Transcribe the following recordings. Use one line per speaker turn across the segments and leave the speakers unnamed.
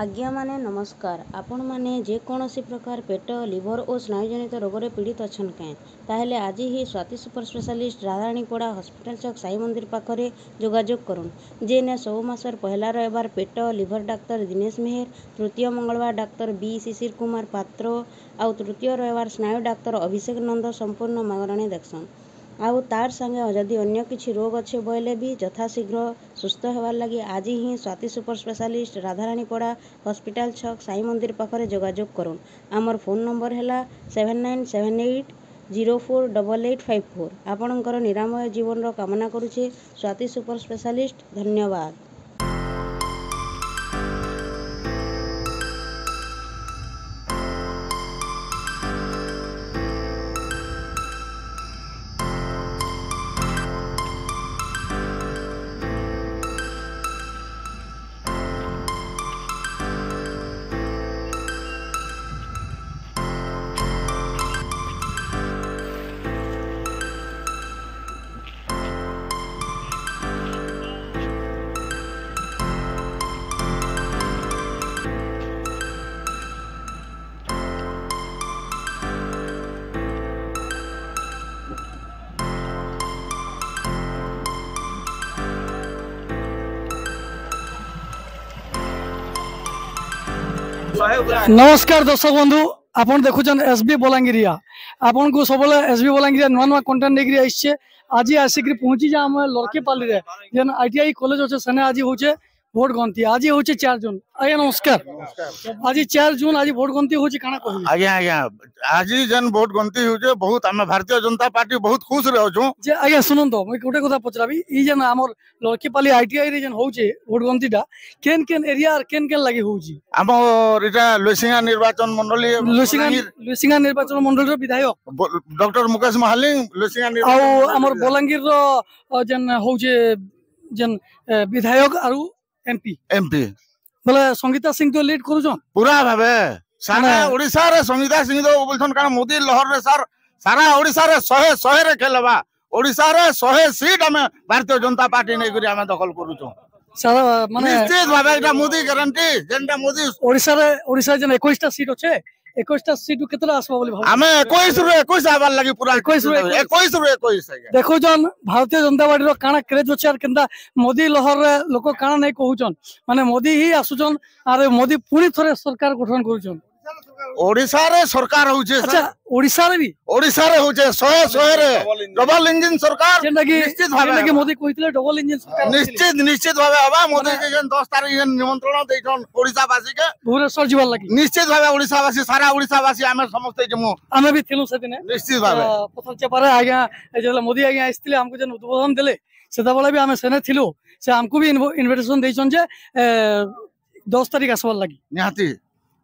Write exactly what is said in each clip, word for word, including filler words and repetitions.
ଆଜ୍ଞାମାନେ ନମସ୍କାର। ଆପଣମାନେ ଯେକୌଣସି ପ୍ରକାର ପେଟ, ଲିଭର ଓ ସ୍ନାୟୁଜନିତ ରୋଗରେ ପୀଡ଼ିତ ଅଛନ୍ କେଁ, ତାହେଲେ ଆଜି ହିଁ ସ୍ୱାତି ସୁପର ସ୍ପେଶାଲିଷ୍ଟ, ରାଧାରାଣୀପଡ଼ା, ହସ୍ପିଟାଲ ଛକ, ସାଇ ମନ୍ଦିର ପାଖରେ ଯୋଗାଯୋଗ କରୁନ୍। ଯେନେ ସବୁ ମାସର ପହିଲା ରବିବାର ପେଟ ଲିଭର ଡାକ୍ତର ଦିନେଶ ମେହେର, ତୃତୀୟ ମଙ୍ଗଳବାର ଡାକ୍ତର ବି ଶିଶିର କୁମାର ପାତ୍ର ଆଉ ତୃତୀୟ ରବିବାର ସ୍ନାୟୁ ଡାକ୍ତର ଅଭିଷେକ ନନ୍ଦ ସମ୍ପୂର୍ଣ୍ଣ ମାଗଣାରେ ଦେଖସନ୍। ଆଉ ତାର୍ ସାଙ୍ଗେ ଯଦି ଅନ୍ୟ କିଛି ରୋଗ ଅଛେ ବୋଇଲେ ବି ଯଥାଶୀଘ୍ର ସୁସ୍ଥ ହେବାର୍ ଲାଗି ଆଜି ହିଁ ସ୍ୱାତି ସୁପର ସ୍ପେଶାଲିଷ୍ଟ, ରାଧାରାଣୀପଡ଼ା, ହସ୍ପିଟାଲ ଛକ, ସାଇ ମନ୍ଦିର ପାଖରେ ଯୋଗାଯୋଗ କରୁନ୍। ଆମର ଫୋନ୍ ନମ୍ବର ହେଲା seven nine seven eight zero four double eight five four. ଆପଣଙ୍କର ନିରାମୟ ଜୀବନର କାମନା କରୁଛେ ସ୍ୱାତି ସୁପର ସ୍ପେଶାଲିଷ୍ଟ। ଧନ୍ୟବାଦ।
ନମସ୍କାର ଦର୍ଶକ ବନ୍ଧୁ, ଆପଣ ଦେଖୁଛନ୍ ଏସ୍ ବି ବଲାଙ୍ଗୀରିଆ। ଆପଣଙ୍କୁ ସବୁବେଳେ ଏସ୍ ବି ବଲାଙ୍ଗୀରିଆ ନୂଆ ନୂଆ କଣ୍ଟେଣ୍ଟ ନେଇକରି ଆସିଛେ। ଆଜି ଆସିକରି ପହଞ୍ଚିଛେ ଆମେ ଲର୍କିପାଲିରେ, ଯେନ୍ I T I college ଅଛେ, ସେନେ ଆଜି ହଉଛେ ଭୋଟ ଗଣତି। ଆଜି ହଉଛେ ଚାର ଜୁନ। ଆଜ୍ଞା ନମସ୍କାର। ଆଜି ଚାର ଜୁନ, ଆଜି ଭୋଟ ଗଣତି ହଉଛି, କାଣା କହିବେ?
ଆଜ୍ଞା ଆଜ୍ଞା, ଆଜି ଯେନ୍ ଭୋଟ ଗଣତି ହଉଛେ, ବହୁତ ଆମେ ଭାରତୀୟ ଜନତା ପାର୍ଟି ବହୁତ ଖୁସିରେ ଅଛୁ।
ଯେ ଆଜ୍ଞା ଶୁଣନ୍ତୁ, ମୁଇଁ ଗୋଟେ କଥା ପଚରାବି। ଇ ଯେନ୍ ଆମର ଲର୍କିପାଲି I T I ରେ ଯେନ୍ ହଉଛେ ଭୋଟ ଗଣତିଟା, କେନ୍ କେନ୍ ଏରିଆ କେନ୍ କେନ୍ ଲାଗି ହଉଛି?
ଆମର ଏଇଟା ଲୋଇସିଂହା ନିର୍ବାଚନ ମଣ୍ଡଳୀ।
ଲୋଇସିଂହା ଲୋଇସିଂହା ନିର୍ବାଚନ ମଣ୍ଡଳୀର ବିଧାୟକ
ଡକ୍ଟର ମୁକେଶ ମହାଲିଙ୍ଗ ଲୋଇସିଂହା।
ଆଉ ଆମର ବଲାଙ୍ଗୀରର ଯେନ୍ ହଉଛେ ଯେନ୍ ବିଧାୟକ ଆରୁ ଏମପି
ଏମପି
ବୋଲେ ସଙ୍ଗୀତା ସିଂ ତ ଲିଡ୍ କରୁଛନ୍।
ପୁରା ଭାବେ ସାରା ଓଡ଼ିଶାରେ ସଙ୍ଗୀତା ସିଂ ତ ବୋଲଛନ୍, କାରଣ ମୋଦି ଲହରରେ ସାର୍ ସାରା ଓଡ଼ିଶାରେ ଶହେ ଶହେରେ ଖେଲବା। ଓଡ଼ିଶାରେ ଶହେ ସିଟ୍ ଆମେ ଭାରତୀୟ ଜନତା ପାର୍ଟି ନେଇକରି ଆମେ ଦଖଲ କରୁଛୁ।
ସାରା ମାନେ
ନିଶ୍ଚିତ ଭାବେ ଏଇଟା ମୋଦି ଗ୍ୟାରେଣ୍ଟି, ଯେନ୍ଟା ମୋଦି।
ଓଡ଼ିଶାରେ ଓଡ଼ିଶା ଯେନ୍ ଏକୋଇଶଟା ସିଟ୍ ଅଛେ, ଏକୋଇଶଟା ସିଟ୍ କେତେଟା ଆସିବ ବୋଲି ଭାବୁଛନ୍?
ଆମେ ଏକୋଇଶ ରୁ ଏକୋଇଶ ହେବାର ଲାଗି ପୁରା।
ଏକୋଇଶ ରୁ
ଏକୋଇଶ ରୁ ଏକୋଇଶ।
ଦେଖୁଛନ୍ ଭାରତୀୟ ଜନତା ପାର୍ଟିର କାଣା କ୍ରେଜ ଅଛି ଆର୍ କେନ୍ତା ମୋଦି ଲହରରେ ଲୋକ କାଣା ନାଇଁ କହୁଛନ୍। ମାନେ ମୋଦି ହିଁ ଆସୁଛନ୍ ଆର୍ ମୋଦି ପୁଣି ଥରେ ସରକାର ଗଠନ କରୁଛନ୍।
ଓଡ଼ିଶାରେ ସରକାର ହଉଛେ।
ଆଚ୍ଛା, ଓଡ଼ିଶାରେ ବି?
ଓଡ଼ିଶାରେ ହଉଛେ ଶହେ ଶହେରେ ଡବଲ ଇଞ୍ଜିନ ସରକାର।
ଯେନ୍ଟା କି
ନିଶ୍ଚିତ ଭାବେ
ଯେନ୍ଟା କି ମୋଦି କହିଥିଲେ ଡବଲ ଇଞ୍ଜିନ ସରକାର।
ନିଶ୍ଚିତ ନିଶ୍ଚିତ ଭାବେ ହବା। ମୋଦି ଯେନ୍ ଦଶ ତାରିଖ ଯେନ୍ ନିମନ୍ତ୍ରଣ ଦେଇଛନ୍ ଓଡ଼ିଶାବାସୀକେ
ଭୁବନେଶ୍ୱର ଯିବାର ଲାଗି,
ନିଶ୍ଚିତ ଭାବେ ଓଡ଼ିଶାବାସୀ, ସାରା ଓଡ଼ିଶାବାସୀ ଆମେ ସମସ୍ତେ ଯିମୁ।
ଆମେ ବି ଥିଲୁ ସେଦିନେ।
ନିଶ୍ଚିତ ଭାବେ
ପଥର ଚେପାରେ ଆଜ୍ଞା ଯେତେବେଳେ ମୋଦି ଆଜ୍ଞା ଆସିଥିଲେ, ଆମକୁ ଯେନ୍ ଉଦ୍ବୋଧନ ଦେଲେ, ସେତେବେଳେ ବି ଆମେ ସେନେ ଥିଲୁ। ସେ ଆମକୁ ବି ଇନଭିଟେସନ ଦେଇଛନ୍ ଯେ ଦଶ ତାରିଖ ଆସିବାର ଲାଗି।
ନିହାତି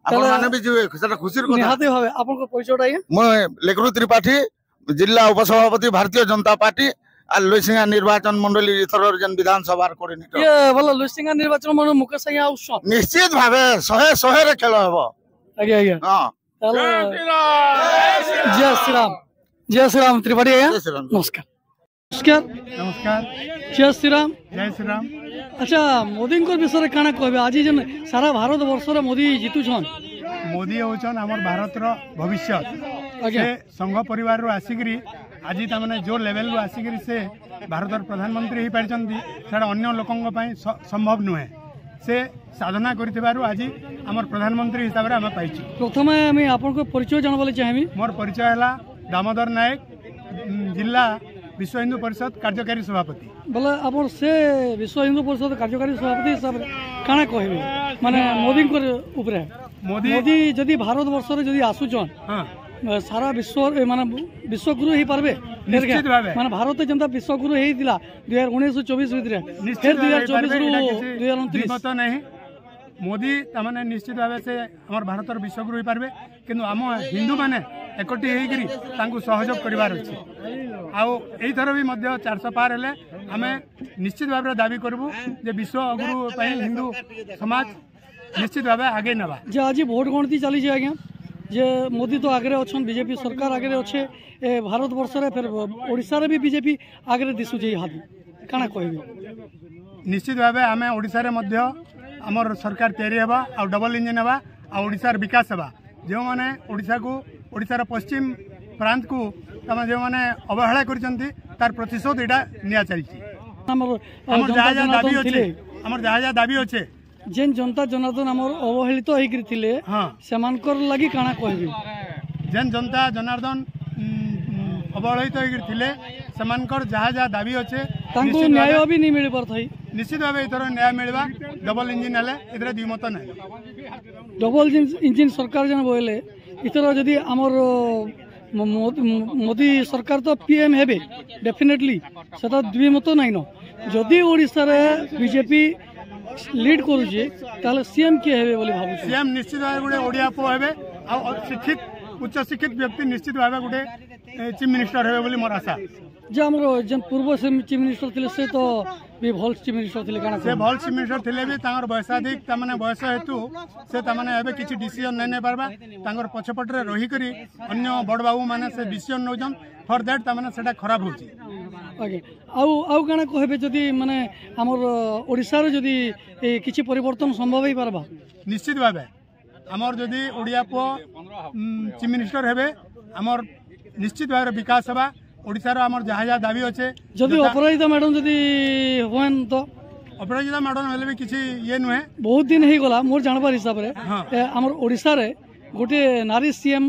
ଆପଣ ମାନେ ବି ଯିବେ, ସେଟା ଖୁସିର କଥା।
ନିହାତି ଭାବେ। ଆପଣଙ୍କ ପରିଚୟଟା ଆଜ୍ଞା?
ମୁଁ ଲେଖରୁ ତ୍ରିପାଠୀ, ଜିଲ୍ଲା ଉପସଭାପତି ଭାରତୀୟ ଜନତା ପାର୍ଟି আর ଲୋଇସିଂହା ନିର୍ବାଚନ ମଣ୍ଡଳୀ ଏଥର ଯେନ୍ ବିଧାନସଭାର କୋଅର୍ଡିନେଟର।
ଇଏ ଭଲ, ଲୋଇସିଂହା ନିର୍ବାଚନ ମଣ୍ଡଳୀ ମୁକେଶ ଆଜ୍ଞା ଆସୁଛନ୍।
ନିଶ୍ଚିତ ଭାବେ ଶହେ ଶହେରେ ଖେଳ ହେବ।
ଆଜ୍ଞା ଆଜ୍ଞା,
ହଁ।
ତାହେଲେ ଜୟ ଶ୍ରୀରାମ, ଜୟ ଶ୍ରୀରାମ ତ୍ରିପାଠୀ ଆଜ୍ଞା। ନମସ୍କାର। ନମସ୍କାର।
ନମସ୍କାର।
ଜୟ ଶ୍ରୀରାମ।
ଜୟ ଶ୍ରୀରାମ।
ଆଚ୍ଛା, ମୋଦିଙ୍କ ବିଷୟରେ କାଣା କହିବେ? ଆଜି ଯେନ୍ ସାରା ଭାରତ ବର୍ଷରେ ମୋଦି ଜିତୁଛନ୍।
ମୋଦି ହେଉଛନ୍ ଆମର ଭାରତର ଭବିଷ୍ୟତ।
ଆଜ୍ଞା
ସେ ସଂଘ ପରିବାରରୁ ଆସିକିରି ଆଜି ତାମାନେ ଯେଉଁ ଲେଭେଲରୁ ଆସିକିରି ସେ ଭାରତର ପ୍ରଧାନମନ୍ତ୍ରୀ ହେଇପାରିଛନ୍ତି, ସେଇଟା ଅନ୍ୟ ଲୋକଙ୍କ ପାଇଁ ସମ୍ଭବ ନୁହେଁ। ସେ ସାଧନା କରିଥିବାରୁ ଆଜି ଆମର ପ୍ରଧାନମନ୍ତ୍ରୀ ହିସାବରେ ଆମେ ପାଇଛୁ।
ପ୍ରଥମେ ଆମେ ଆପଣଙ୍କ ପରିଚୟ ଜାଣିବା ଲାଗି ଚାହିଁବି।
ମୋର ପରିଚୟ ହେଲା ଦାମୋଦର ନାୟକ, ଜିଲ୍ଲା ବିଶ୍ୱ ହିନ୍ଦୁ ପରିଷଦ କାର୍ଯ୍ୟକାରୀ ସଭାପତି।
ବୋଲେ ଆପଣ ସେ ବିଶ୍ୱ ହିନ୍ଦୁ ପରିଷଦ କାର୍ଯ୍ୟକାରୀ ସଭାପତି ହିସାବରେ କାଣା କହିବେ ମାନେ ମୋଦିଙ୍କର ଉପରେ?
ମୋଦି
ମୋଦି ଯଦି ଭାରତ ବର୍ଷରେ ଯଦି ଆସୁଛନ୍,
ହଁ,
ସାରା ବିଶ୍ୱ ମାନେ ବିଶ୍ୱଗୁରୁ ହେଇପାରିବେ?
ନିଶ୍ଚିତ ଭାବେ।
ମାନେ ଭାରତ ଯେନ୍ତା ବିଶ୍ୱଗୁରୁ ହେଇଥିଲା ଦୁଇ ହଜାର ଉଣେଇଶ ଚବିଶ ଭିତରେ, ଫେର ଦୁଇ ହଜାର ଚବିଶରୁ ଦୁଇ ହଜାର ଅଣତିରିଶ।
ଦ୍ୱିମତ ନାହିଁ, ମୋଦି ତାମାନେ ନିଶ୍ଚିତ ଭାବେ ସେ ଆମର ଭାରତର ବିଶ୍ୱଗୁରୁ ହେଇପାରିବେ। କିନ୍ତୁ ଆମ ହିନ୍ଦୁମାନେ ଏକଠି ହେଇକିରି ତାଙ୍କୁ ସହଯୋଗ କରିବାର ଅଛି। ଆଉ ଏଇଥର ବି ମଧ୍ୟ ଚାରିଶହ ପାର ହେଲେ ଆମେ ନିଶ୍ଚିତ ଭାବରେ ଦାବି କରିବୁ ଯେ ବିଶ୍ୱଗୁରୁ ପାଇଁ ହିନ୍ଦୁ ସମାଜ ନିଶ୍ଚିତ ଭାବେ ଆଗେଇ ନେବା।
ଯେ ଆଜି ଭୋଟ ଗଣତି ଚାଲିছে ଆଜ୍ଞା, ଯେ ମୋଦି ତ ଆଗରେ ଅଛନ୍, ବିଜେପି ସରକାର ଆଗରେ ଅଛେ ଏ ଭାରତ ବର୍ଷରେ, ଫେର ଓଡ଼ିଶାରେ ବି ବିଜେପି ଆଗରେ ଦିଶୁଛେ, ଇହାଦେ କାଣା କହିବେ?
ନିଶ୍ଚିତ ଭାବେ ଆମେ ଓଡ଼ିଶାରେ ମଧ୍ୟ ଆମର ସରକାର ତିଆରି ହେବା ଆଉ ଡବଲ ଇଞ୍ଜିନ୍ ହେବା ଆଉ ଓଡ଼ିଶାର ବିକାଶ ହେବା। ଯେଉଁମାନେ ଓଡ଼ିଶାକୁ, ଓଡ଼ିଶାର ପଶ୍ଚିମ ପ୍ରାନ୍ତକୁ ତାମାନେ ଯେଉଁମାନେ ଅବହେଳା କରିଛନ୍ତି, ତାର ପ୍ରତିଶୋଧ ଏଇଟା ନିଆ ଚାଲିଛି।
ଆମର
ଆମର ଯାହା ଯାହା ଦାବି
ଜନତା
ଅଛି
ଥିଲେ,
ଆମର ଯାହା ଯାହା ଦାବି ଅଛେ,
ଯେନ୍ ଜନତା ଜନାର୍ଦ୍ଦନ ଆମର ଅବହେଳିତ ହେଇକିରି ଥିଲେ,
ହଁ,
ସେମାନଙ୍କର ଲାଗି କାଣା କହିବି?
ଯେନ୍ ଜନତା ଜନାର୍ଦ୍ଦନ ଉଁ, ଉଁ, ଅବହେଳିତ ହେଇକିରି ଥିଲେ, ସେମାନଙ୍କର ଯାହା ଯାହା ଦାବି ଅଛେ,
ତାଙ୍କୁ
ନିଶ୍ଚିତ
ନ୍ୟାୟ
ଭାବେ
ବି ନି ମିଳି ପାରୁଥାଇ।
ନିଶ୍ଚିତ ଭାବେ ଏଥର ନ୍ୟାୟ ମିଳିବା ଡବଲ ଇଞ୍ଜିନ୍ ହେଲେ, ଏଥିରେ ଦ୍ୱିମତ ନାହିଁ।
ଡବଲ ଇଞ୍ଜିନ୍ ସରକାର ଯେନ୍ ବୋଇଲେ, ଏଥର ଯଦି ଆମର ମୋଦି ସରକାର ତ ପି ଏମ୍ ହେବେ ଡେଫିନେଟଲି, ସେଟା ଦ୍ୱିମତ ନାଇଁନ। ଯଦି ଓଡ଼ିଶାରେ ବିଜେପି ଲିଡ୍ କରୁଛେ, ତାହେଲେ ସିଏମ୍ କିଏ ହେବେ ବୋଲି ଭାବୁଛି?
ସିଏମ୍ ନିଶ୍ଚିତ ଭାବେ ଗୋଟେ ଓଡ଼ିଆ ପୁଅ ହେବେ ଆଉ ଶିକ୍ଷିତ, ଉଚ୍ଚ ଶିକ୍ଷିତ ବ୍ୟକ୍ତି ନିଶ୍ଚିତ ଭାବେ ଗୋଟେ ଚିଫ୍ ମିନିଷ୍ଟର ହେବେ ବୋଲି ମୋର ଆଶା।
ଯେ ଆମର ଯେନ୍ ପୂର୍ବ ଚିଫ୍ ମିନିଷ୍ଟର ଥିଲେ, ସେ ତ ବି ଭଲ ଚିଫ୍ ମିନିଷ୍ଟର ଥିଲେ, କାଣା?
ସେ ଭଲ ଚିଫ୍ ମିନିଷ୍ଟର ଥିଲେ ବି ତାଙ୍କର ବୟସାଧିକ, ତାମାନେ ବୟସ ହେତୁ ସେ ତାମାନେ ଏବେ କିଛି ଡିସିଜନ୍ ନାଇଁ ନେଇ ପାରବା। ତାଙ୍କର ପଛପଟରେ ରହିକରି ଅନ୍ୟ ବଡ଼ ବାବୁ ମାନେ ସେ ଡିସିଜନ୍ ନେଉଛନ୍, ଫର୍ that ତାମାନେ ସେଟା ଖରାପ ହଉଛି।
ଆଜ୍ଞା, ଆଉ ଆଉ କାଣା କହିବେ, ଯଦି ମାନେ ଆମର ଓଡ଼ିଶାରେ ଯଦି ଏ କିଛି ପରିବର୍ତ୍ତନ ସମ୍ଭବ ହେଇପାରବା?
ନିଶ୍ଚିତ ଭାବେ ଆମର ଯଦି ଓଡ଼ିଆ ପୁଅ ଚିଫ୍ ମିନିଷ୍ଟର ହେବେ, ଆମର ନିଶ୍ଚିତ ଭାବରେ ବିକାଶ ହେବା ଓଡ଼ିଶାର। ଆମର ଯାହା ଯାହା ଦାବି ଅଛେ,
ଯଦି ଅପରାଜିତା ମ୍ୟାଡ଼ାମ ଯଦି ହୁଏନ୍ ତ?
ଅପରାଜିତା ମ୍ୟାଡ଼ାମ ହେଲେ ବି କିଛି ଇଏ ନୁହେଁ।
ବହୁତ ଦିନ ହେଇଗଲା, ମୋର ଜାଣବାର ହିସାବରେ
ହଁ।
ଏ, ଆମର ଓଡ଼ିଶାରେ ଗୋଟିଏ ନାରୀ ସିଏମ୍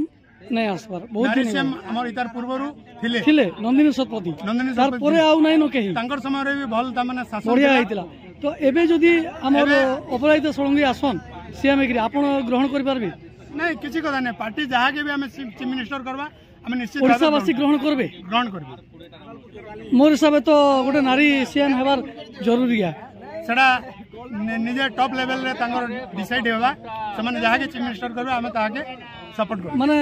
ନାଇଁ ଆସିବାର ବହୁତ
ନାରୀ
ଦିନ
ସିଏମ୍
ହେଇଗଲା।
ଆମର ଇତାର ପୂର୍ବରୁ ଥିଲେ
ଥିଲେ ନନ୍ଦିନୀ ଶତପଥୀ।
ନନ୍ଦିନୀ ଶତପଥୀ।
ତାରପରେ ଆଉ ନାଇଁ ନ କେହି।
ତାଙ୍କର ସମୟରେ ବି ଭଲ ତାମାନେ ଶାସନ
ବଢିଆ
ଥିଲା।
ହେଇଥିଲା। ତ ଏବେ ଯଦି ଆମର
ଏବେ-
ଅପରାଜିତା ଷଡ଼ଙ୍ଗୀ ଆସନ୍ ସିଏମ୍ ହେଇକିରି, ଆପଣ ଗ୍ରହଣ କରିପାରିବେ?
ନାଇଁ, କିଛି କଥା ନାଇଁ। ପାର୍ଟି ଯାହାକେ ବି ଆମେ ଚିଫ୍ ମିନିଷ୍ଟର କରବା, ଆମେ ନିଶ୍ଚିତ ଭାବେ
ଓଡ଼ିଶାବାସୀ ଗ୍ରହଣ କରିବେ?
ଗ୍ରହଣ କରିବୁ।
ମୋର ହିସାବରେ ତ ଗୋଟେ ନାରୀ ସିଏମ୍ ହେବାର ଜରୁରୀ।
ସେଟା ନି- ନିଜେ ଟପ୍ ଲେଭେଲରେ ତାଙ୍କର ଡିସାଇଡ୍ ହେବା। ସେମାନେ ଯାହାକେ ଚିଫ୍ ମିନିଷ୍ଟର କରିବେ, ଆମେ ତାହାକେ ସପୋର୍ଟ କରିବୁ।
ମାନେ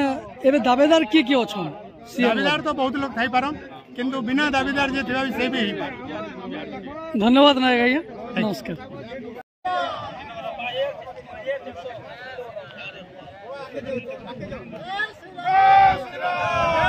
ଏବେ ଦାବେଦାର କିଏ କିଏ ଅଛନ୍ ସିଏମ୍?
ଦାବିଦାର ତ ବହୁତ ଲୋକ ଥାଇପାରନ୍, କିନ୍ତୁ ବିନା ଦାବିଦାର ଯିଏ ଥିବା ବି ସେ ବି ହେଇପାରେ।
ଧନ୍ୟବାଦ ନାୟକ ଆଜ୍ଞା, ନମସ୍କାର।
Yes,